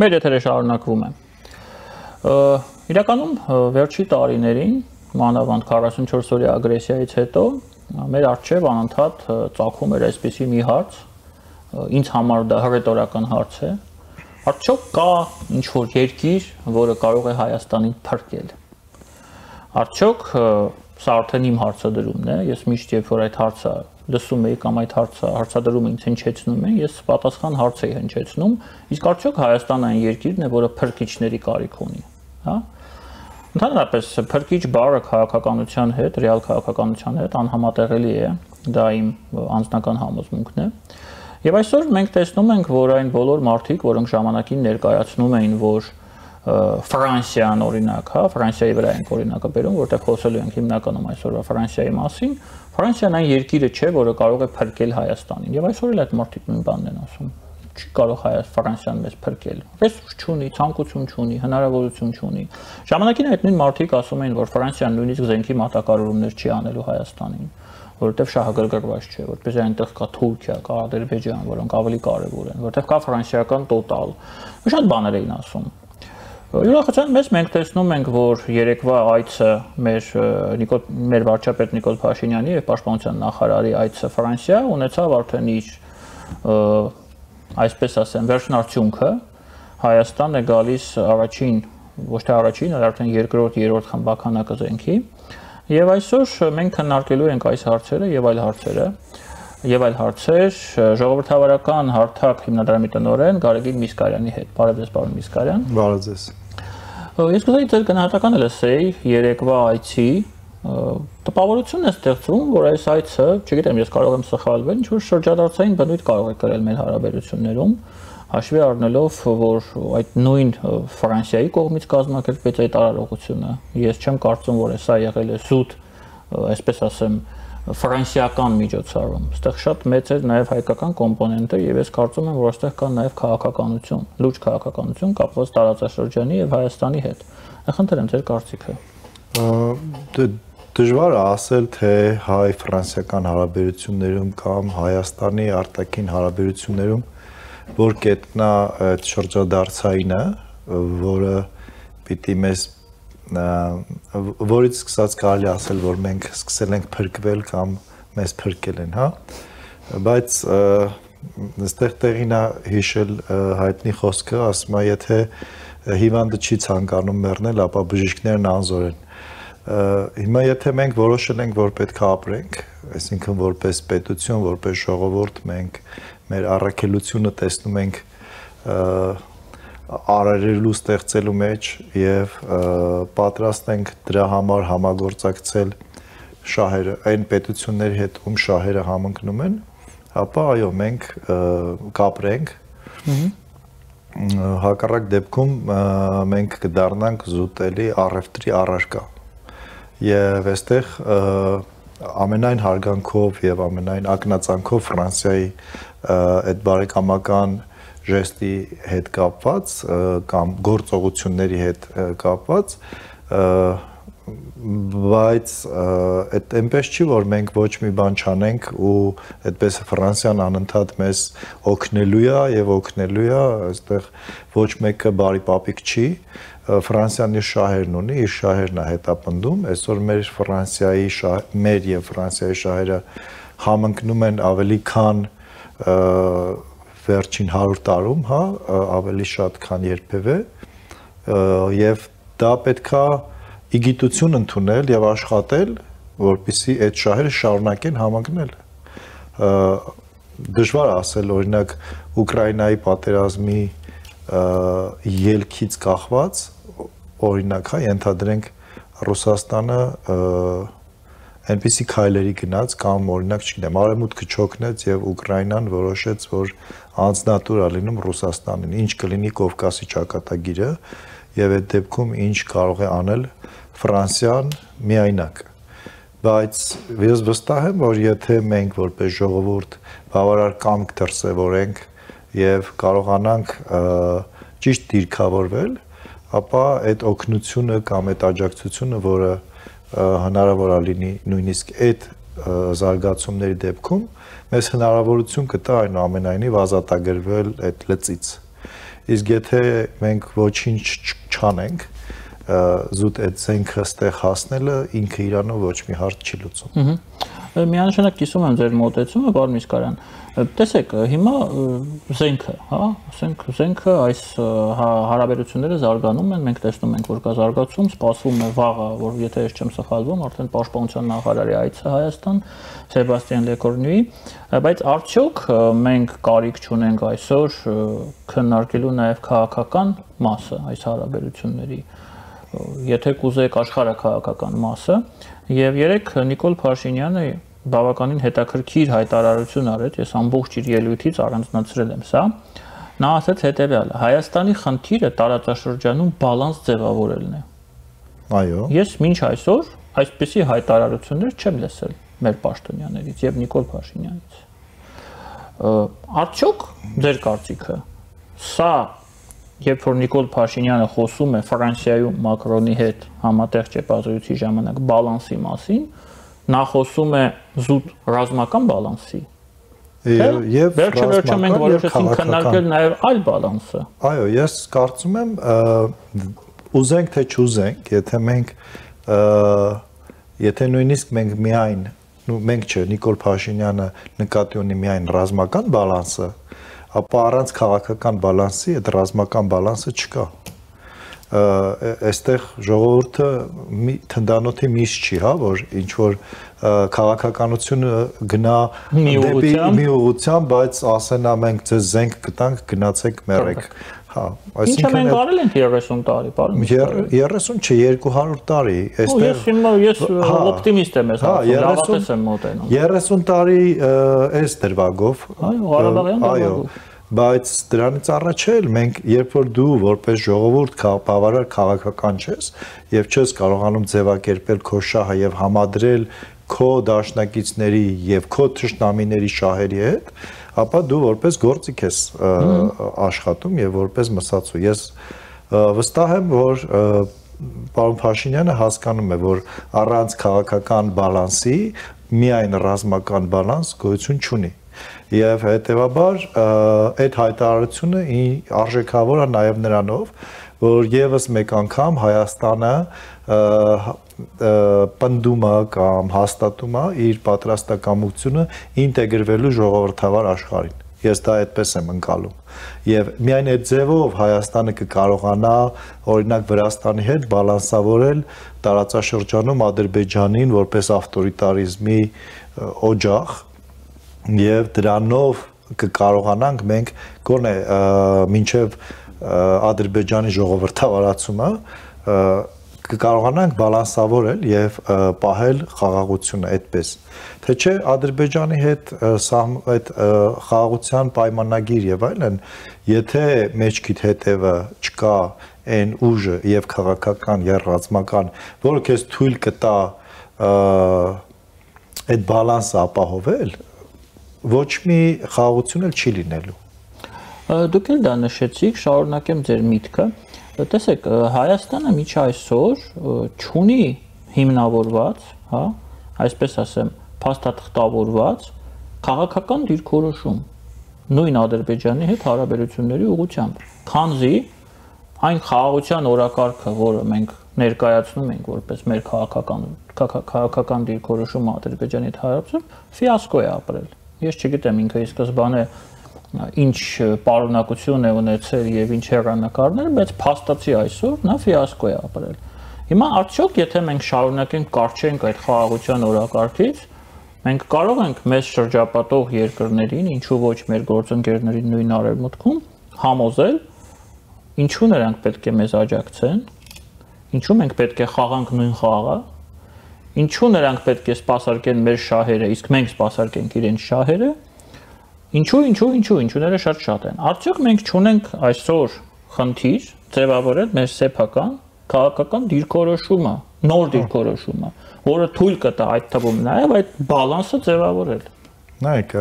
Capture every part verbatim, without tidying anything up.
Մեր եթերը շարունակվում է։ Իրականում վերջի տարիներին, մանավանդ քառասունչորս օրյա ագրեսիայից հետո, մեր առջև անընդհատ ծագում էր այսպիսի մի հարց, ինձ համար դա հռետորական հարց է, արդյոք կա ինչ-որ երկիր, որը կարող է Հայաստանին փրկել։ Արդյոք սա արդեն իմ հարցադրումն է, ես միշտ երբ որ այդ հարցը լսում էի կամ այդ հարցը հարցադրումը ինձ հնչեցնում է, ես պատասխան հարց էի հնչեցնում, իսկ արդյոք Հայաստանը այն երկիրն է, որը փրկիչների կարիք ունի, հա? Ընդհանրապես փրկիչ բառը քաղաքականության հետ, ռեալ քաղաքականության հետ անհամատեղելի է, դա իմ անձնական համոզմունքն է։ Եվ այսօր մենք տեսնում ենք, որ այն բոլոր մարդիկ, որոնք ժամանակին ներկայացնում էին, որ Ֆրանսիան օրինակ, հա, Ֆրանսիայի վրա ենք օրինակը բերում, որտեղ խոսելու ենք հիմնականում այսօրվա Ֆրանսիայի մասին, Ֆրանսիան այն երկիրը չէ, որը կարող է փրկել Հայաստանին։ Եվ այսօր էլ այդ մարդիկ նույն բանն են ասում։ Չի կարող Ֆրանսիան մեզ փրկել։ Ռեսուրս չունի, ցանկություն չունի, հնարավորություն չունի։ Ժամանակին այդ նույն մարդիկ ասում էին, որ Ֆրանսիան նույնիսկ զենքի մատակարարումներ չի անելու Հայաստանին, որովհետև շահագրգռված չէ, որտեղ այնտեղ կա Թուրքիա, կա Ադրբեջան, որոնք ավելի կարևոր են, որտեղ կա ֆրանսիական տոտալ։ Շատ բաներ էին ասում։ Ուրախացան մեզ մենք տեսնում ենք, որ երեկվա այցը մեր մեր վարչապետ Նիկոլ Փաշինյանի եւ պաշտպանության նախարարի այցը Ֆրանսիա ունեցավ արդեն իր այսպես ասեմ վերջնարդյունքը, Հայաստան է գալիս առաջին, ոչ թե առաջին, այլ արդեն երկրորդ, երրորդ խմբականակը զենքի, եւ այսօր մենք քննարկելու ենք այս հարցերը եւ այլ հարցերը, եւ այլ հարցեր ժողովրդավարական հարթակ հիմնադրամի տնօրեն Գարեգին Միսկարյանի հետ։ Բարև ձեզ, պարոն Միսկարյան։ Բարև ձեզ։ Ես կուզեի ձեր գնահատականը լսեի երեկվա այցի, տպավորությունն է ստեղծվում, որ այս այցը, չգիտեմ, ես կարող եմ սխալվել, ինչ-որ շրջադարձային բնույթ կարող է կրել մեր հարաբերություններում, հաշվի առնելով, որ այդ նույն Ֆրանսիայի կողմից կազմակերպվեց այդ արարողությունը, ես չեմ կարծում, որ սա եղել է զուտ, այսպես ասեմ, ֆրանսիական միջոցառում, այստեղ շատ մեծ էր նաև հայկական կոմպոնենտը եւ ես կարծում եմ, որ այստեղ կա նաև քաղաքականություն, լուրջ քաղաքականություն կապված տարածաշրջանի եւ Հայաստանի հետ։ Խնդրեմ ձեր կարծիքը։ Դժվար է ասել, թե հայ-ֆրանսիական հարաբերություններում կամ Հայաստանի արտաքին հարաբերություններում որ կետնա այդ շրջադարձայինը, որը պիտի մեզ որից սկսած կարելի ասել, որ մենք սկսել ենք փրկվել կամ մեզ փրկել են, հա, բայց այստեղ տեղին է հիշել հայտնի խոսքը, ասում է, եթե հիվանդը չի ցանկանում մեռնել, ապա բժիշկներն անզոր են։ Հիմա եթե մենք որոշել ենք, որ պետք է ապրենք, այսինքն որպես պետություն, որպես ժողովուրդ, մենք մեր առաքելությունը տեսնում ենք արարելու ստեղծելու մեջ եւ պատրաստ ենք դրա համար համագործակցել շահերը, այն պետությունների հետ, ում շահերը համընկնում են, ապա այո, մենք կապրենք։ Հակառակ դեպքում մենք կդառնանք զուտելի առևտրի առարկա։ Եվ այստեղ ամենայն հարգանքով եւ ամենայն ակնածանքով Ֆրանսիայի այդ բարեկամական ժեստի հետ կապված կամ գործողությունների հետ կապված, բայց այդ այնպես չի, որ մենք ոչ մի բան չանենք ու այդպես Ֆրանսիան անընդհատ մեզ օգնելու է եւ օգնելու է, այստեղ ոչ մեկը բարի պապիկ չի, Ֆրանսիան իր շահերն ունի, իր շահերն է հետապնդում, այսօր մեր Ֆրանսիայի մեր եւ Ֆրանսիայի շահերը համընկնում են ավելի քան վերջին հարյուր տարում, հա, ավելի շատ քան երբևէ, եւ դա պետքա իգիտություն ընդունել եւ աշխատել, որպեսզի այդ շահերը շարունակեն համընկնել։ Դժվար ասել, օրինակ, Ուկրաինայի պատերազմի ելքից կախված, օրինակ, հա, ենթադրենք Ռուսաստանը այնպիսի քայլերի գնաց կամ օրինակ, չգիտեմ, Արևմուտքը չօգնեց եւ Ուկրաինան որոշեց, որ անձնատուր է լինում Ռուսաստանին, ինչ կլինի Կովկասի ճակատագիրը եւ այդ դեպքում ինչ կարող է անել Ֆրանսիան միայնակ։ Բայց ես վստահ եմ, որ եթե մենք որպես ժողովուրդ բավարար կամք դրսևորենք եւ կարողանանք ճիշտ դիրքավորվել, ապա այդ օգնությունը կամ այդ աջակցությունը, որը հնարավոր է լինի նույնիսկ այդ զարգացումների դեպքում, մեզ հնարավորություն կտա այնուամենայնիվ ազատագրվել այդ լծից։ Իսկ եթե մենք ոչինչ չանենք, զուտ այդ զենքը ստեղ հասնելը ինքը իրանով ոչ մի հարց չի լուծում։ Միանշանակ կիսում եմ ձեր մոտեցումը, պարոն Միսկարյան։ Տեսեք, հիմա զենքը, հա, ասենք զենքը այս հարաբերությունները զարգանում են, մենք տեսնում ենք, որ կա զարգացում, սպասվում է վաղը, որ եթե ես չեմ սխալվում, արդեն պաշտպանության նախարարի այցը Հայաստան, Սեբաստիան Լեկորնյուի, բայց արդյոք մենք կարիք չունենք այսօր քննարկելու նաև քաղաքական մասը այս հարաբերությունների, եթե կուզեք աշխարհաքաղաքական մասը, եւ երեք Նիկոլ Փաշինյանը բավականին հետաքրքիր հայտարարություն արեց, ես ամբողջ իր ելույթից առանձնացրել եմ սա, նա ասաց հետեւյալը. Հայաստանի խնդիրը տարածաշրջանում բալանս ձևավորելն է։ Այո։ Ես մինչ այսօր այսպիսի հայտարարություններ չեմ լսել մեր պաշտոնյաներից եւ Նիկոլ Փաշինյանից։ Արդյոք ձեր կարծիքը սա երբ որ Նիկոլ Փաշինյանը խոսում է Ֆրանսիայում Մակրոնի հետ համատեղ ճեպազրույցի ժամանակ բալանսի մասին, նա խոսում է զուտ ռազմական բալանսի։ Եվ վերջը մենք որոշեցինք քննարկել նաև այլ բալանսը։ Այո, ես կարծում եմ ուզենք թե չուզենք, եթե մենք եթե նույնիսկ մենք միայն, մենք չէ, Նիկոլ Փաշինյանը նկատի ունի միայն ռազմական բալանսը, ապա առանց քաղաքական բալանսի այդ ռազմական բալանսը չկա։ Այստեղ ժողովուրդը թնդանոթի միս չի, հա, որ ինչ որ քաղաքականությունը գնա դեպի մի ուղղությամբ, բայց ասենա մենք ձեզ զենք կտանք, գնացեք մեռեք։ Հա, այսինքն մենք արել ենք երեսուն տարի, պարոն։ երեսուն չէ, երկու հարյուր տարի, այստեղ։ Ես հիմա ես օպտիմիստ եմ, ես լավատես եմ մոտենում։ երեսուն տարի այս դրվագով։ Այո, Ղարաբաղյան դրվագով։ Բայց դրանից առաջ էլ մենք երբ որ դու որպես ժողովուրդ բավարար քաղաքական չես եւ չես կարողանում ձևակերպել քո շահը եւ համադրել քո դաշնակիցների եւ քո թշնամիների շահերի հետ, ապա դու որպես գործիք ես աշխատում եւ որպես մսացու։ Ես վստահ եմ, որ պարոն Փաշինյանը հասկանում է, որ առանց քաղաքական բալանսի միայն ռազմական բալանս գոյություն չունի։ Եվ հետևաբար այդ հայտարարությունը արժեքավոր է նաև նրանով, որ եւս մեկ անգամ Հայաստանը պնդում է կամ հաստատում է իր պատրաստակամությունը ինտեգրվելու ժողովրդավար աշխարհին։ Ես դա այդպես եմ ընկալում։ Եվ միայն այդ ձևով Հայաստանը կկարողանա օրինակ Վրաստանի հետ բալանսավորել տարածաշրջանում Ադրբեջանին որպես ավտորիտարիզմի օջախ եւ դրանով կկարողանանք մենք գոնե մինչեւ Ադրբեջանի ժողովրդավարացումը կկարողանանք բալանսավորել եւ պահել խաղաղությունը այդպես թե չէ Ադրբեջանի հետ այդ խաղաղության պայմանագիր եւ այլն եթե մեջքիդ հետևը չկա այն ուժը եւ քաղաքական եւ ռազմական որը քեզ թույլ կտա այդ բալանսը ապահովել ոչ մի խաղաղություն էլ չի լինելու։ Դուք էլ դա նշեցիք, շարունակեմ ձեր միտքը։ Տեսեք, Հայաստանը միջ այսօր չունի հիմնավորված, հա, այսպես ասեմ, փաստաթղթավորված քաղաքական դիրքորոշում նույն Ադրբեջանի հետ հարաբերությունների ուղղությամբ։ Քանզի այն խաղաղության օրակարգը, որը մենք ներկայացնում ենք որպես մեր քաղաքական քաղաքական դիրքորոշումը Ադրբեջանի հետ հարաբերություն, ֆիասկո է ապրել։ Ես չգիտեմ ինքը ի սկզբանե ինչ պարունակություն է ունեցել եւ ինչ հեռանկարներ, բայց փաստացի այսօր նա ֆիասկո է ապրել։ Հիմա արդյոք եթե մենք շարունակենք կարճենք այդ խաղաղության օրակարգից, մենք կարող ենք մեզ շրջապատող երկրներին, ինչու ոչ մեր գործընկերներին նույն արևմուտքում համոզել, ինչու նրանք պետք է մեզ աջակցեն, ինչու մենք պետք է խաղանք նույն խաղը, ինչու նրանք պետք է սպասարկեն մեր շահերը, իսկ մենք սպասարկենք իրենց շահերը, ինչու, ինչու, ինչու, ինչուները շատ շատ են։ Արդյոք մենք չունենք այսօր խնդիր ձևավորել մեր սեփական քաղաքական դիրքորոշումը, նոր դիրքորոշումը, որը թույլ կտա այդ թվում նաև այդ բալանսը ձևավորել։ Նայեք,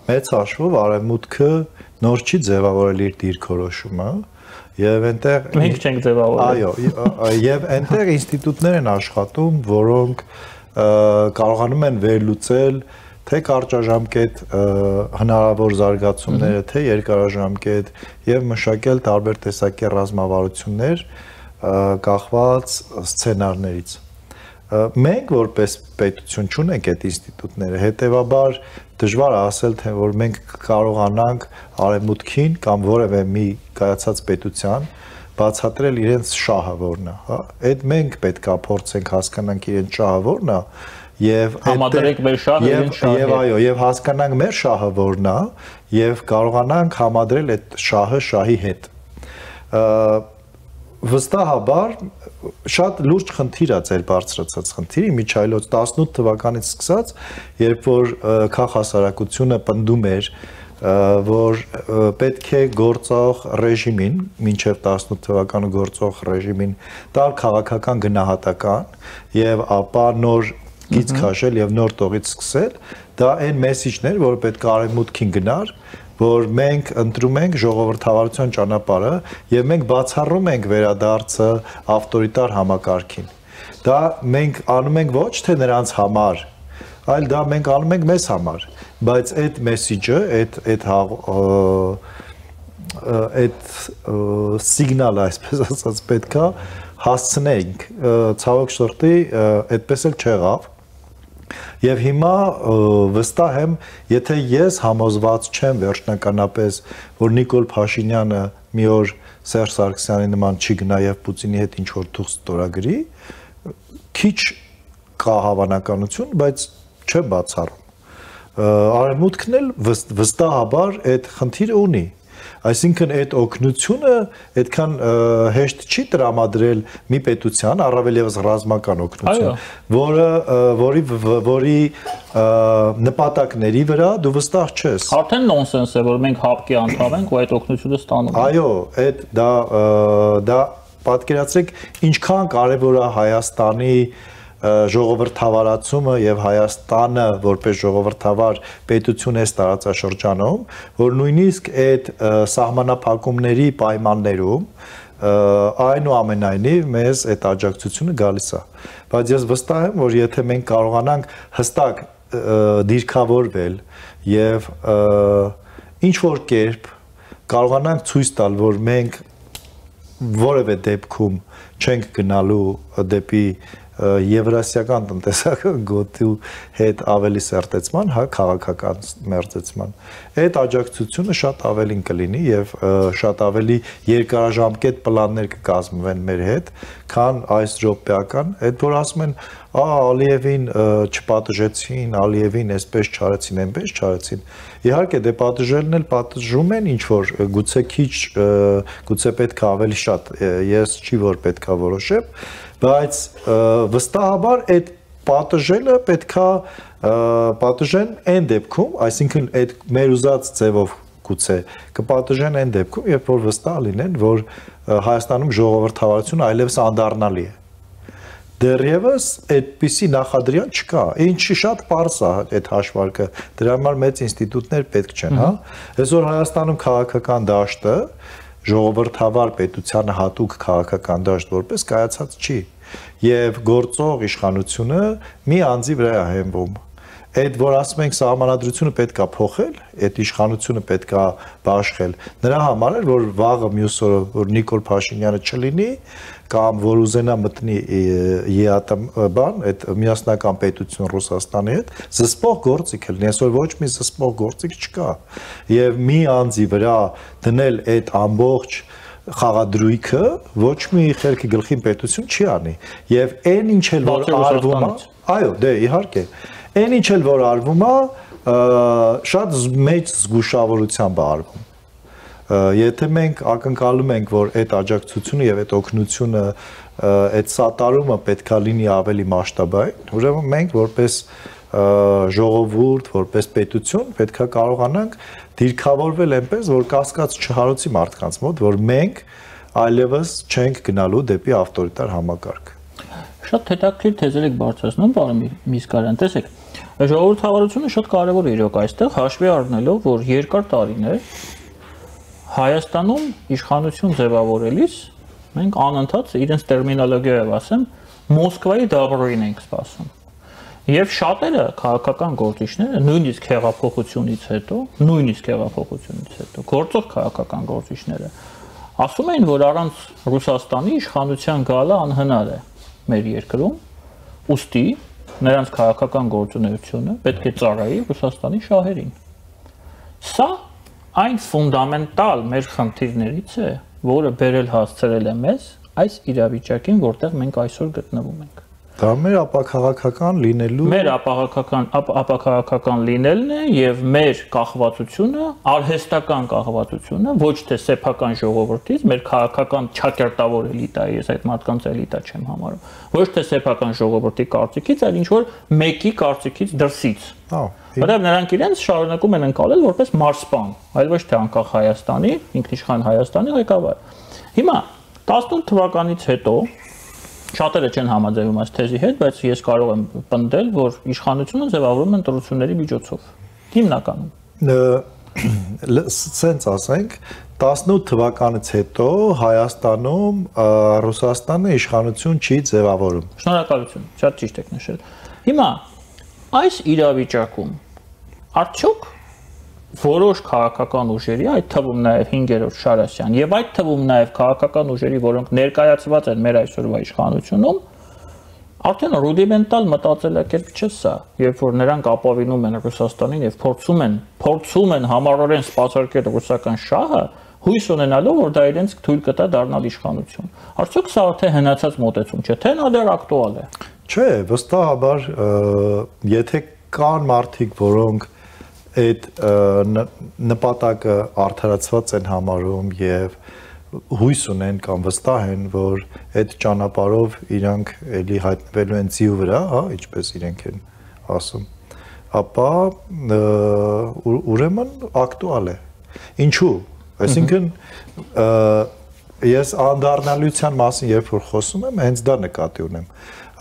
մեծ հաշվով արևմուտքը նոր չի ձևավորել իր դիրքորոշումը, եւ այնտեղ մենք չենք ձևավորել։ Այո, եւ այնտեղ ինստիտուտներ են աշխատում, որոնք կարողանում են վերլուծել թե կարճաժամկետ հնարավոր զարգացումները, թե երկարաժամկետ եւ մշակել տարբեր տեսակի ռազմավարություններ կախված սցենարներից։ Մենք որպես պետություն չունենք այդ ինստիտուտները, հետեւաբար դժվար է ասել, թե որ մենք կարողանանք արևմուտքին կամ որևէ մի կայացած պետության բացատրել իրենց շահը որն է, հա։ Այդ մենք պետքա փորձենք հասկանանք իրենց շահը որն է եւ համադրենք մեր շահը իրենց շահը։ Եվ այո, եւ հասկանանք մեր շահը որն է եւ կարողանանք համադրել այդ շահը շահի հետ։ Վստահաբար շատ լուրջ խնդիր է ձեր բարձրացած խնդիրը միջայլոց տասնութ թվականից սկսած, երբ որ քաղաքասարակությունը պնդում էր, որ պետք է գործող ռեժիմին, մինչև տասնութ թվականը գործող ռեժիմին տալ քաղաքական գնահատական եւ ապա նոր գիծ քաշել եւ նոր տողից սկսել, դա այն մեսիջն էր, որը պետք է արևմուտքին գնար, որ մենք ընտրում ենք ժողովրդավարության ճանապարհը եւ մենք բացառում ենք վերադարձը ավտորիտար համակարգին։ Դա մենք անում ենք ոչ թե նրանց համար, այլ դա մենք անում ենք մեզ համար, բայց այդ մեսիջը, այդ այդ այդ սիգնալը, այսպես ասած, պետքա հասցնենք, ցավոք սրտի, այդպես էլ չեղավ։ Եվ հիմա վստահ եմ, եթե ես համոզված չեմ վերջնականապես, որ Նիկոլ Փաշինյանը մի օր Սերժ Սարգսյանի նման չի գնա եւ Պուտինի հետ ինչ-որ թուղթ ստորագրի, քիչ կա հավանականություն, բայց չեմ բացառում։ Արևմուտքն էլ վստահաբար այդ խնդիրը ունի։ Այսինքն այդ օգնությունը այդքան հեշտ չի տրամադրել մի պետության, առավել եւս ռազմական օգնություն, որը որի որի նպատակների վրա դու վստահ չես։ Արդեն նոնսենս է, որ մենք հապկի անդամ ենք ու այդ օգնությունը ստանում ենք։ Այո, այդ դա դա պատկերացրեք ինչքան կարևոր է Հայաստանի ժողովրդավարացումը եւ Հայաստանը որպես ժողովրդավար պետություն է տարածաշրջանում, որ նույնիսկ այդ սահմանափակումների պայմաններում այնուամենայնիվ մեզ այդ աջակցությունը գալիս է։ Բայց ես վստահ եմ, որ եթե մենք կարողանանք հստակ դիրքավորվել եւ ինչ որ կերպ կարողանանք ցույց տալ, որ մենք որևէ դեպքում չենք գնալու դեպի եվրասիական տնտեսական գոտու հետ ավելի սերտեցման, հա, քաղաքական մերձեցման։ Այդ աջակցությունը շատ ավելին կլինի եւ շատ ավելի երկարաժամկետ պլաններ կկազմվեն մեր հետ, քան այս րոպեական, այդ որ ասում են, «Ա, Ալիևին չպատժեցին, Ալիևին այսպես չարեցին, այնպես չարեցին»։ Իհարկե, դե պատժելն էլ պատժում են ինչ որ գուցե քիչ, գուցե պետք է ավելի շատ, ես չի որ պետք է որոշեմ, բայց վստահաբար այդ պատժելը պետքա պատժեն այն դեպքում, այսինքն այդ մեր ուզած ձևով գուցե կպատժեն այն դեպքում, երբ որ վստահ լինեն, որ Հայաստանում ժողովրդավարությունը այլևս անդառնալի է։ Դեռևս այդպիսի նախադրյալ չկա։ Ինչի շատ պարզ է այդ հաշվարկը, դրա համար մեծ ինստիտուտներ պետք չեն, հա։ Այսօր Հայաստանում քաղաքական դաշտը ժողովրդավար պետությանը հատուկ քաղաքական դաշտ որպես կայացած չի եւ գործող իշխանությունը մի անձի վրա է հենվում։ Այդ որ ասում ենք սահմանադրությունը պետքա փոխել, այդ իշխանությունը պետքա բաշխել։ Նրա համար է որ վաղը մյուս օրը որ Նիկոլ Փաշինյանը չլինի կամ որ ուզենա մտնի ԵԱՏՄ բան, այդ միասնական պետություն Ռուսաստանի հետ, զսպող գործիք է լինի, այսօր ոչ մի զսպող գործիք չկա։ Եվ մի անձի վրա դնել այդ ամբողջ խաղադրույքը ոչ մի խելքի գլխին պետություն չի անի։ Եվ այն ինչ էլ որ արվում է, այո, դե իհարկե, այն ինչ էլ որ արվում է, շատ մեծ զգուշավորությամբ է արվում։ Եթե մենք ակնկալում ենք, որ այդ աջակցությունը եւ այդ օգնությունը, այդ սատարումը պետքա լինի ավելի մասշտաբային, ուրեմն մենք որպես ժողովուրդ, որպես պետություն պետքա կարողանանք դիրքավորվել այնպես, որ կասկած չհարոցի մարդկանց մոտ, որ մենք այլևս չենք գնալու դեպի ավտորիտար համակարգ։ Շատ հետաքրքիր թեզեր եք բարձրացնում, պարոն Միսկարյան, տեսեք, ժողովրդավարությունը շատ կարևոր է իրոք այստեղ, հաշվի առնելով, որ երկար տարիներ Հայաստանում իշխանություն ձևավորելիս մենք անընդհատ իրենց տերմինոլոգիայով ասեմ Մոսկվայի դաբրոյին ենք սպասում։ Եվ շատերը քաղաքական գործիչները նույնիսկ հեղափոխությունից հետո, նույնիսկ հեղափոխությունից հետո գործող քաղաքական գործիչները ասում էին, որ առանց Ռուսաստանի իշխանության գալը անհնար է մեր երկրում, ուստի նրանց քաղաքական գործունեությունը պետք է ծառայի Ռուսաստանի շահերին։ Սա այն ֆունդամենտալ մեր խնդիրներից է, որը բերել հասցրել է մեզ այս իրավիճակին, որտեղ մենք այսօր գտնվում ենք։ Դա մեր ապաքաղաքական լինելու մեր ապաքաղաքական ապաքաղաքական լինելն է եւ մեր կախվածությունը, արհեստական կախվածությունը, ոչ թե սեփական ժողովրդից, մեր քաղաքական չակերտավոր էլիտայի, ես այդ մարդկանց էլիտա չեմ համարում, ոչ թե սեփական ժողովրդի կարծիքից, այլ ինչ որ մեկի կարծիքից դրսից։ Հա, որտեղ նրանք իրենց շարունակում են ընկալել որպես մարսպան, այլ ոչ թե անկախ Հայաստանի, ինքնիշխան Հայաստանի ղեկավար։ Հիմա տասնութ թվականից հետո շատերը չեն համաձայնում այս թեզի հետ, բայց ես կարող եմ պնդել, որ իշխանությունը ձևավորվում է ընտրությունների միջոցով։ Հիմնականում։ Սենց ասենք, տասնութ թվականից հետո Հայաստանում Ռուսաստանը իշխանություն չի ձևավորում։ Շնորհակալություն, շատ ճիշտ եք նշել։ Հիմա այս իրավիճակում արդյոք որոշ քաղաքական ուժերի, այդ թվում նաև հինգերորդ Շարասյան եւ այդ թվում նաև քաղաքական ուժերի, որոնք ներկայացված են մեր այսօրվա իշխանությունում, արդեն ռուդիմենտալ մտածելակերպ չէ սա, երբ որ նրանք ապավինում են Ռուսաստանին եւ փորձում են, փորձում են համառորեն սպասարկել ռուսական շահը, հույս ունենալով, որ դա իրենց թույլ կտա դառնալ իշխանություն։ Արդյոք սա արդեն հնացած մոտեցում չէ, թե նա դեռ ակտուալ է։ Չէ, վստահաբար, եթե կան մարդիկ, որոնք այդ նպատակը արդարացված են համարում եւ հույս ունեն կամ վստահ են, որ այդ ճանապարհով իրանք էլի հայտնվելու են ձիու վրա, հա, ինչպես իրենք են ասում, ապա ուրեմն ակտուալ է։ Ինչու՞։ Այսինքն ես անդառնալիության մասին երբ որ խոսում եմ, հենց դա նկատի ունեմ։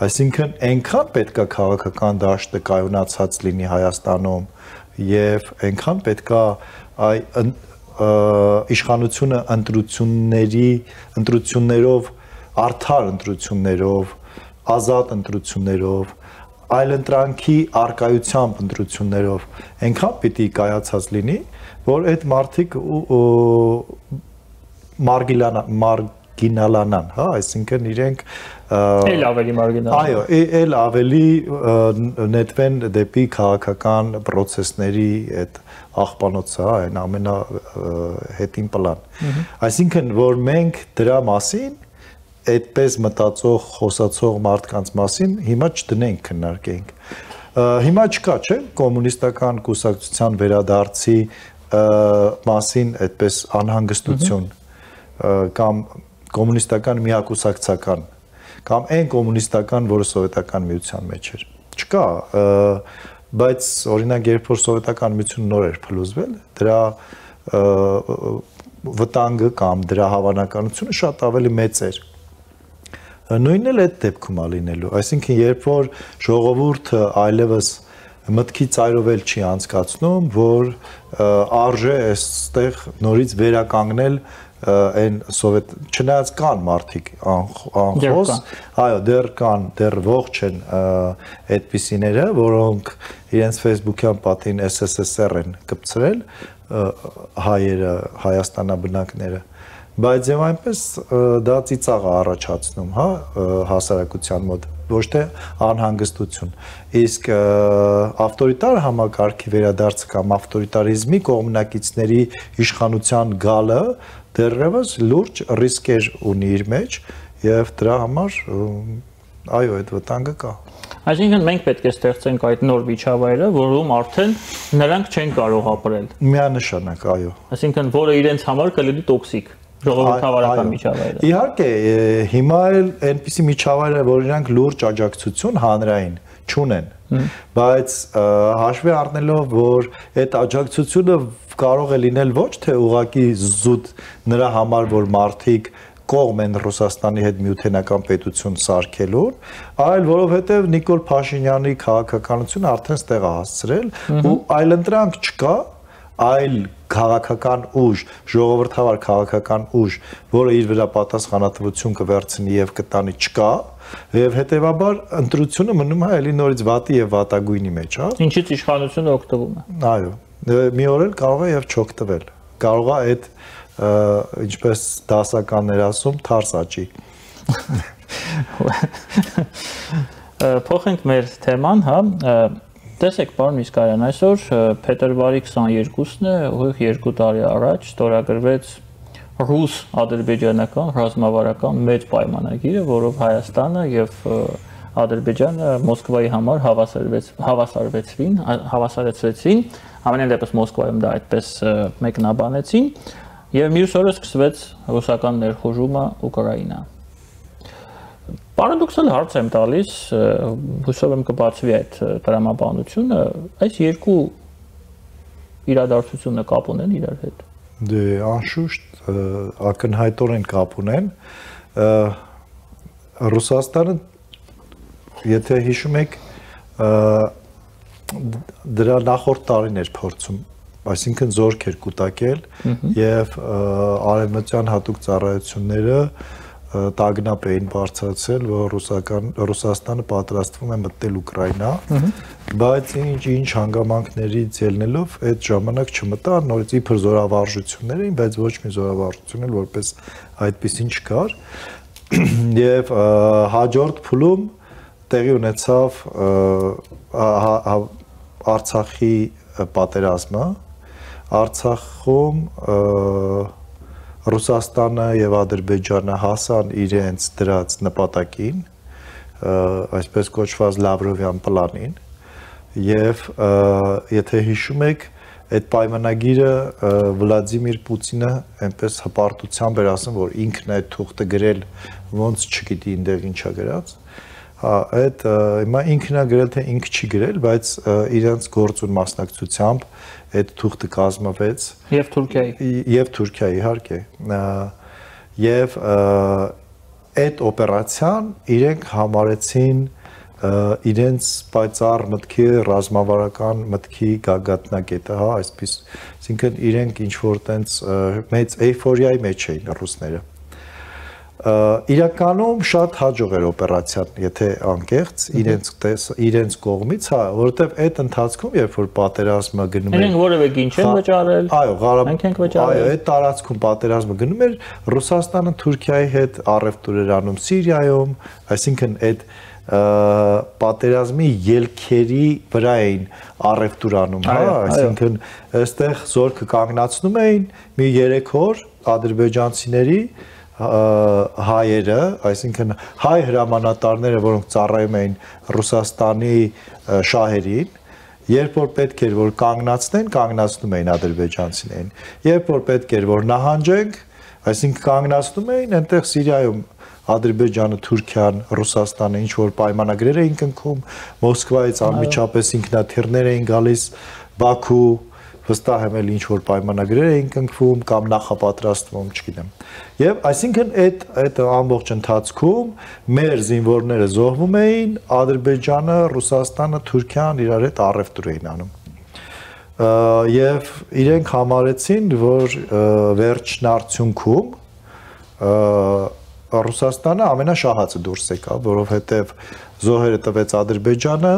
Այսինքն այնքան պետքա քաղաքական դաշտը կայունացած լինի Հայաստանում եւ այնքան պետքա այ իշխանությունը ընտրությունների ընտրություններով արդար ընտրություններով ազատ ընտրություններով այլ ընտրանքի արկայությամբ ընտրություններով այնքան պիտի կայացած լինի, որ այդ մարդիկ մարգինալանան, հա, այսինքն իրենք էլ ավելի մարգինալ։ Այո, էլ ավելի նետվեն դեպի քաղաքական process-ների այդ աղբանոցը, հա, այն ամենա հետին պլան։ Այսինքն, որ մենք դրա մասին այդպես մտածող, խոսացող մարդկանց մասին հիմա չդնենք քննարկենք։ Հիմա չկա, չէ՞, կոմունիստական կուսակցության վերադարձի մասին այդպես անհանգստություն կամ կոմունիստական միակուսակցական կամ այն կոմունիստական, որը սովետական միության մեջ էր։ Չկա, բայց օրինակ երբ որ սովետական միությունը նոր էր փլուզվել, դրա վտանգը կամ դրա հավանականությունը շատ ավելի մեծ էր։ Նույնն էլ այդ դեպքում է լինելու, այսինքն երբ որ ժողովուրդը այլևս մտքի ծայրով էլ չի անցկացնում, որ արժե այստեղ նորից վերականգնել այն սովետ չնայած կան մարդիկ անխոս, այո, դեռ կան, դեռ ողջ են այդպիսիները, որոնք իրենց Facebook-յան պատին S S S R են կպցրել հայերը, հայաստանաբնակները, բայց եւ այնպես դա ծիծաղ է առաջացնում, հա, հասարակության մոտ, ոչ թե անհանգստություն։ Իսկ ավտորիտար համակարգի վերադարձը կամ ավտորիտարիզմի կողմնակիցների իշխանության գալը դեռևս լուրջ ռիսկեր ունի իր մեջ եւ դրա համար այո, այդ վտանգը կա։ Այսինքն մենք պետք է ստեղծենք այդ նոր միջավայրը, որում արդեն նրանք չեն կարող ապրել։ Միանշանակ, այո։ Այսինքն որը իրենց համար կլինի տոքսիկ ժողովրդավարական միջավայրը։ Իհարկե, հիմա էլ այնպիսի միջավայր է, որ իրանք լուրջ աջակցություն հանրային չունեն, բայց հաշվի առնելով, որ այդ աջակցությունը կարող է լինել ոչ թե ուղղակի զուտ նրա համար, որ մարդիկ կողմ են Ռուսաստանի հետ միութենական պետություն սարքելուն, այլ որովհետև Նիկոլ Փաշինյանի քաղաքականությունը արդեն ստեղ է հասցրել ու այլընտրանք չկա, այլ քաղաքական ուժ, ժողովրդավար քաղաքական ուժ, որը իր վրա պատասխանատվություն կվերցնի եւ կտանի չկա, Եվ հետևաբար ընտրությունը մնում է էլի նորից վատի եւ վատագույնի մեջ, հա։ Ինչից իշխանությունը օգտվում է։ Այո, մի օր էլ կարող է եւ չօգտվել։ Կարող է այդ ինչպես դասականներ ասում, թարս աճի։ Փոխենք մեր թեման, հա։ Տեսեք, պարոն Միսկարյան, այսօր փետրվարի քսաներկուսն է, ուղիղ երկու տարի առաջ ստորագրվեց ռուս-ադրբեջանական ռազմավարական մեծ պայմանագիրը, որով Հայաստանը եւ Ադրբեջանը Մոսկվայի համար հավասարվեցին, հավասարեցրեցին, ամենայն դեպս Մոսկվայում դա այդպես մեկնաբանեցին, եւ մյուս օրը սկսվեց ռուսական ներխուժումը Ուկրաինա։ Պարադոքսալ հարց եմ տալիս, հուսով եմ կբացվի այդ տրամաբանությունը, այս երկու իրադարձությունը կապ ունեն իրար հետ։ Դե անշուշտ ակնհայտորեն կապ ունեն։ Ռուսաստանը, եթե հիշում եք, դրա նախորդ տարին էր փորձում, այսինքն զորք էր կուտակել եւ արևմտյան հատուկ ծառայությունները տագնապ էին բարձրացել, որ ռուսական Ռուսաստանը պատրաստվում է մտնել Ուկրաինա, բայց ինչ-ինչ հանգամանքներից ելնելով այդ ժամանակ չմտան, նորից իբր զորավարժություններ էին, բայց ոչ մի զորավարժություն էլ որպես այդպեսին չկար, եւ հաջորդ փուլում տեղի ունեցավ Արցախի պատերազմը, Արցախում Ռուսաստանը եւ Ադրբեջանը հասան իրենց դրած նպատակին, այսպես կոչված Լավրովյան պլանին, եւ եթե հիշում եք, այդ պայմանագիրը Վլադիմիր Պուտինը այնպես հպարտությամբ էր ասում, որ ինքն է այդ թուղթը գրել, ոնց չգիտի այնտեղ ինչա գրած։ Հա, այդ հիմա ինքն է գրել, թե ինքը չի գրել, բայց իրենց գործուն մասնակցությամբ այդ թուղթը կազմվեց եւ Թուրքիայի եւ Թուրքիայի իհարկե եւ այդ օպերացիան իրենք համարեցին իրենց պայծառ մտքի ռազմավարական մտքի գագաթնակետը, հա, այսպես, այսինքն իրենք ինչ որ տենց մեծ էյֆորիայի մեջ էին ռուսները։ Իրականում շատ հաջող էր օպերացիան, եթե անկեղծ իրենց իրենց կողմից, հա, որովհետև այդ ընթացքում, երբ որ պատերազմը գնում էր, իրենք որևէ գին չեն վճարել, այո, մենք ենք վճարել, այո, այդ տարածքում պատերազմը գնում էր, Ռուսաստանը Թուրքիայի հետ առևտուր էր անում Սիրիայում, այսինքն այդ պատերազմի ելքերի վրա էին առևտուր անում, հա, այսինքն այստեղ զորքը կանգնացնում էին մի երեք օր ադրբեջանցիների հայերը, այսինքն հայ հրամանատարները, որոնք ծառայում էին Ռուսաստանի շահերին, երբ որ պետք էր որ կանգնացնեն, կանգնացնում էին ադրբեջանցիներին, երբ որ պետք էր որ նահանջենք, այսինքն կանգնացնում էին, այնտեղ Սիրիայում Ադրբեջանը, Թուրքիան, Ռուսաստանը ինչ որ պայմանագրեր էին կնքում, Մոսկվայից անմիջապես ինքնաթիռներ էին գալիս Բաքու, վստահ եմ էլ ինչ որ պայմանագրեր էին կնքվում կամ նախապատրաստվում, չգիտեմ։ Եվ այսինքն այդ այդ ամբողջ ընթացքում մեր զինվորները զոհվում էին, Ադրբեջանը, Ռուսաստանը, Թուրքիան իրար հետ առևտուր էին անում։ Եվ իրենք համարեցին, որ վերջնարդյունքում Ռուսաստանը ամենաշահածը դուրս եկավ, որովհետև զոհերը տվեց Ադրբեջանը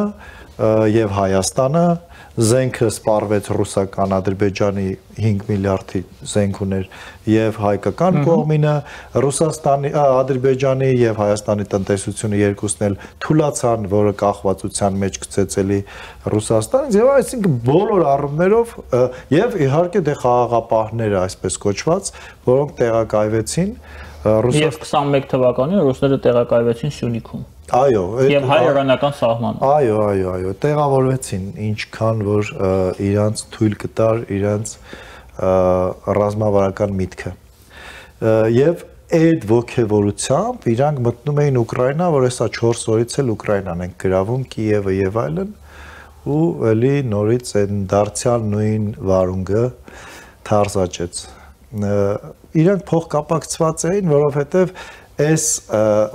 եւ Հայաստանը, զենքը սպառվեց ռուսական Ադրբեջանի հինգ միլիարդի զենք ուներ եւ հայկական կողմինը, Ռուսաստանի, Ադրբեջանի եւ Հայաստանի տնտեսությունը երկուսն էլ թուլացան, որը կախվածության մեջ գցեց էլի Ռուսաստանից եւ այսինքն բոլոր առումներով եւ իհարկե դե խաղաղապահները այսպես կոչված, որոնք տեղակայվեցին Եվ քսանմեկ թվականին ռուսները տեղակայվեցին Սյունիքում։ Այո, եւ հայ-իրանական սահմանում։ Այո, այո, այո, տեղավորվեցին, ինչքան որ իրանց թույլ կտար իրանց ռազմավարական միտքը։ Եվ այդ ողջևորությամբ իրանք մտնում էին Ուկրաինա, որ հեսա չորս օրից էլ Ուկրաինան են գրավում, Կիևը եւ այլն, ու էլի նորից այն դարձյալ նույն վարունգը թարզաճեց։ Իրանք փոխկապակցված էին, որովհետև այս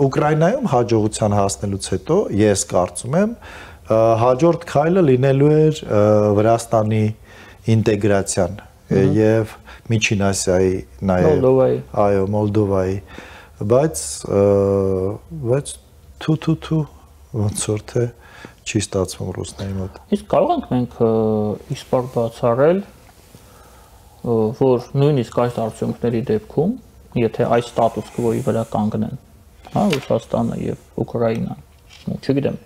Ուկրաինայում հաջողության հասնելուց հետո ես կարծում եմ հաջորդ քայլը լինելու էր Վրաստանի ինտեգրացիան եւ Միջին Ասիայի նաեւ, այո, Մոլդովայի, բայց բայց թու-թու-թու ոնց որ թե չի ստացվում ռուսների մոտ։ Իսկ կարող ենք մենք իսպար բացառել, որ նույնիսկ այս արդյունքների դեպքում, եթե այս ստատուս կվոյի վրա կանգնեն, հա, Ռուսաստանը եւ Ուկրաինան, չգիտեմ,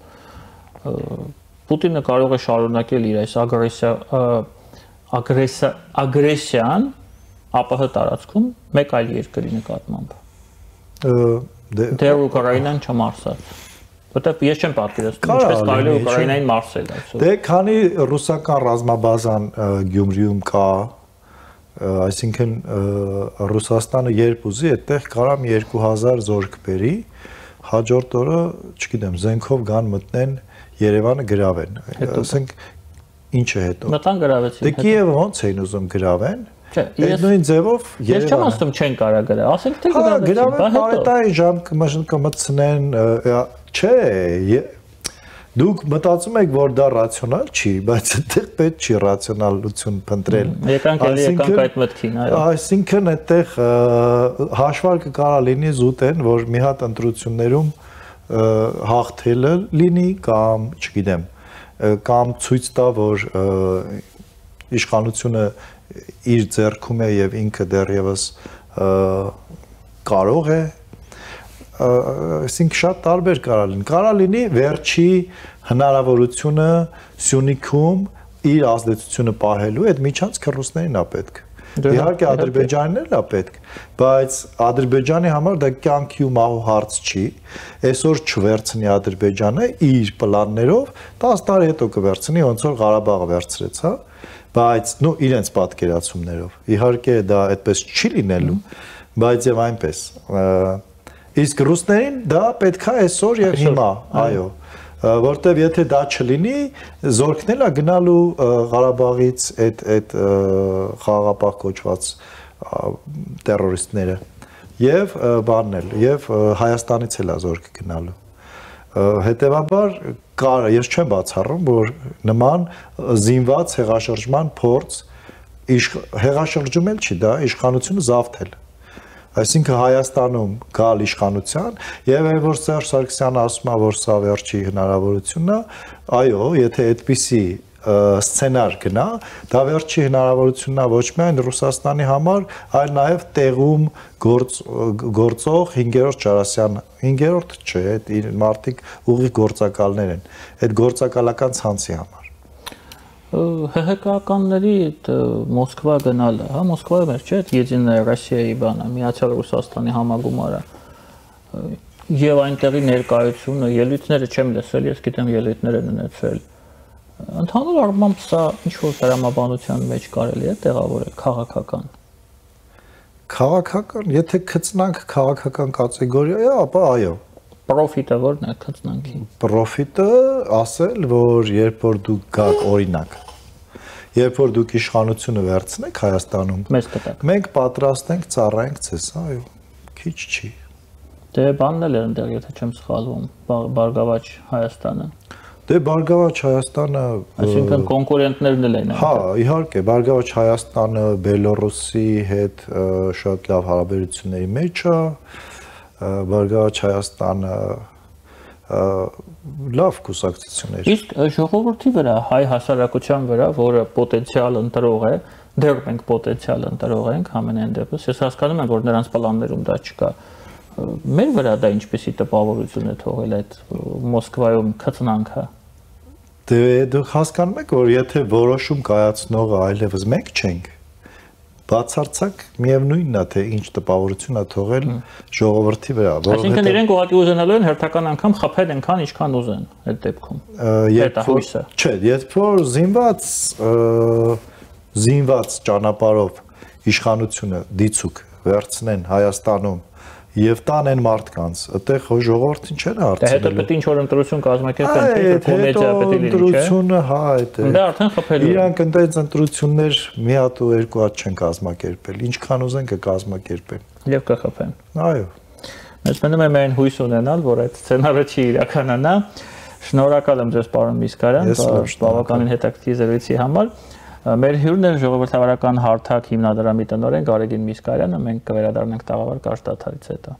Պուտինը կարող է շարունակել իր այս ագրեսիա ագրեսիա ագրեսիան ԱՊՀ տարածքում մեկ այլ երկրի նկատմամբ։ Դեռ Ուկրաինան չմարսած։ Որտեւ ես չեմ պատկերացնում ինչպես կարելի է Ուկրաինային մարսել այսօր։ Դե քանի ռուսական ռազմաբազան Գյումրիում կա, այսինքն Ռուսաստանը երբ ուզի այդտեղ կարա մի երկու հազար զորք բերի, հաջորդ օրը, չգիտեմ, զենքով գան մտնեն Երևանը գրավեն։ Ասենք ինչ է հետո։ Մտան գրավեցին։ Դե Կիևը ոնց էին ուզում գրավեն։ Չէ, այդ նույն ձևով Երևանը։ Ես չեմ ասում չեն կարա գրավ, ասենք թե գրավեցին, բա հետո։ Հա, գրավեն, բարետային ժամ կմտցնեն, չէ, դուք մտածում եք, որ դա ռացիոնալ չի, բայց այդտեղ պետք չի ռացիոնալություն փնտրել։ Եկանք էլի եկանք այդ մտքին, այո։ Այսինքն այդտեղ հաշվարկը կարա լինի զուտեն, որ մի հատ ընտրություններում հաղթելը լինի կամ, չգիտեմ, կամ ցույց տա, որ իշխանությունը իր ձեռքում է եւ ինքը դեռևս կարող է, այսինքն շատ տարբեր կարա լինի։ Կարա լինի վերջի հնարավորությունը Սյունիքում իր ազդեցությունը պահելու, այդ միջանցքը ռուսներին է պետք։ Իհարկե Ադրբեջանին էլ է պետք, բայց Ադրբեջանի համար դա կյանքի ու մահու հարց չի։ Այսօր չվերցնի Ադրբեջանը իր պլաններով, տասը տարի հետո կվերցնի, ոնց որ Ղարաբաղը վերցրեց, հա, բայց նու իրենց պատկերացումներով։ Իհարկե դա այդպես չի լինելու, բայց եւ այնպես։ Իսկ ռուսներին դա պետքա այսօր եւ հիմա, այո, որտեվ եթե դա չլինի, զորքն է գնալու Ղարաբաղից այդ այդ խաղաղապահ կոչված տերորիստները եւ բանն էլ եւ Հայաստանից էլ է զորք գնալու։ Հետևաբար կար, ես չեմ բացառում, որ նման զինված հեղաշրջման փորձ հեղաշրջում էլ չի, դա իշխանությունը զավթել։ Այսինքն Հայաստանում գալ իշխանության եւ այլ որ Սերժ Սարգսյանը ասում է, որ սա վերջի հնարավորությունն է, այո, եթե այդպիսի սցենար գնա, դա վերջի հնարավորությունն է ոչ միայն Ռուսաստանի համար, այլ նաեւ տեղում գործ գործող հինգերորդ Ջարասյան, հինգերորդ չէ, այդ մարդիկ ուղիղ գործակալներ են, այդ գործակալական ցանցի համար։ ՀՀԿ-ականների Մոսկվա գնալը, հա, Մոսկվայում էր, չէ՞, Եդինայա Ռոսիայի բանը, Միացյալ Ռուսաստանի համագումարը։ Եվ այնտեղի ներկայությունը, ելույթները չեմ լսել, ես գիտեմ ելույթներ են ունեցել։ Ընդհանուր առմամբ սա ինչ-որ դրամաբանության մեջ կարելի է տեղավորել քաղաքական։ Քաղաքական, եթե գտնանք քաղաքական կատեգորիա, ապա այո։ Պրոֆիտը որն է գտնանքի։ Պրոֆիտը ասել, որ երբ որ դուք գաք օրինակ, երբ որ դուք իշխանությունը վերցնեք Հայաստանում, մեզ կտակ։ Մենք պատրաստ ենք ծառայենք ցես, այո, քիչ չի։ Դե բանն էլ է այնտեղ, եթե չեմ սխալվում, Բարգավաճ Հայաստանը։ Դե Բարգավաճ Հայաստանը, այսինքն կոնկուրենտներն էլ են։ Հա, իհարկե, Բարգավաճ Հայաստանը Բելոռուսի հետ շատ լավ հարաբերությունների մեջ է, Բարգավաճ Հայաստանը լավ կուսակցություններ։ Իսկ ժողովրդի վրա, հայ հասարակության վրա, որը պոտենցիալ ընտրող է, դեռ մենք պոտենցիալ ընտրող ենք ամենայն դեպս, ես հասկանում եմ, որ նրանց պլաններում դա չկա։ Մեր վրա դա ինչպեսի տպավորություն է թողել այդ Մոսկվայում քծնանքը։ Դե դուք հասկանում եք, որ եթե որոշում կայացնողը այլևս մենք չենք, բացարձակ միևնույնն է, թե ինչ տպավորություն է թողել ժողովրդի վրա, որովհետեւ Այսինքն իրենք ուղղակի ուզենալու են հերթական անգամ խփել այնքան, ինչքան ուզեն այդ դեպքում։ Հետահույսը։ Չէ, երբ որ զինված զինված ճանապարհով իշխանությունը դիցուկ վերցնեն Հայաստանում եւ տանեն մարդկանց, այդտեղ ժողովրդին չեն հարցնելու։ Դա հետո պետք է ինչ որ ընտրություն կազմակերպեն, թե կոմեդիա պետք է լինի, չէ՞։ Ընտրությունը, հա, այդ է։ Դա արդեն խփելու։ Իրանք այնտեղ ընտրություններ մի հատ ու երկու հատ չեն կազմակերպել, ինչքան ուզեն կկազմակերպեն։ Եվ կխփեն։ Այո։ Մեզ մնում է միայն հույս ունենալ, որ այդ սցենարը չի իրականանա։ Շնորհակալ եմ ձեզ, պարոն Միսկարյան, բավականին հետաքրքիր զրույցի համար։ Մեր հյուրն է ժողովրդավարական հարթակ հիմնադրամի տնօրեն Գարեգին Միսկարյանը, մենք կվերադառնանք տաղավար կարճ դադարից հետո։